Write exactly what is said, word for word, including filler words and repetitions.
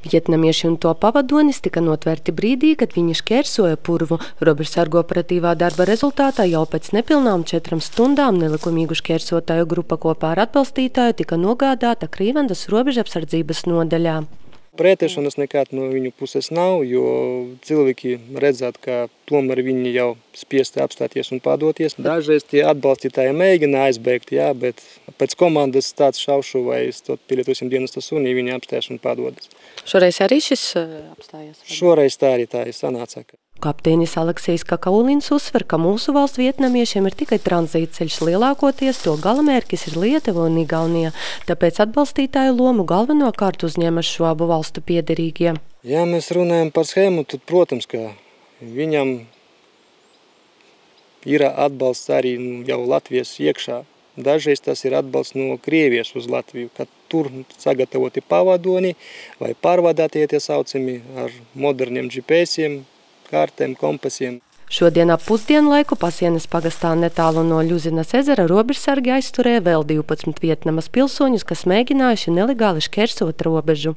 Vietnamieši un to pavadonis tika notverti brīdī, kad viņi šķērsoja purvu. Robežsargu operatīvā darba rezultātā jau pēc nepilnām četram stundām nelikumīgu šķērsotāju grupa kopā ar atbalstītāju tika nogādāta Krīvendas robežapsardzības nodaļā. Pretēšanas nekad no viņu puses nav, jo cilvēki redzēt, ka tomēr viņi jau spiesti apstāties un padoties. Dažreiz tie atbalstītāji mēģina aizbēgt, jā, bet pēc komandas tāds šaušu vai pielietosim dienesta sunī, viņi apstājas un padodas. Šoreiz arī šis apstājas? Šoreiz tā arī tā ir sanāca. Kapteinis Aleksejs Kakaulins uzsver, ka mūsu valsts vietnamiešiem ir tikai tranzītceļš, lielākoties to galamērķis ir Lietuva un Igaunija, tāpēc atbalstītāju lomu galvenokārt uzņemas šo abu valstu piederīgie. Ja mēs runājam par schēmu, tad, protams, ka viņam ir atbalsts arī jau Latvijas iekšā. Dažreiz tas ir atbalsts no Krievijas uz Latviju, kad tur sagatavoti pavadoni vai pārvadātie tie saucami ar moderniem G P S-iem, kārtēm, kompasiem. Šodien ap pusdienu laiku Pasienes pagastā netālu no Ļuzinas ezera robežsargi aizturēja vēl divpadsmit Vietnamas pilsoņus, kas mēģinājuši nelegāli šķērsot robežu.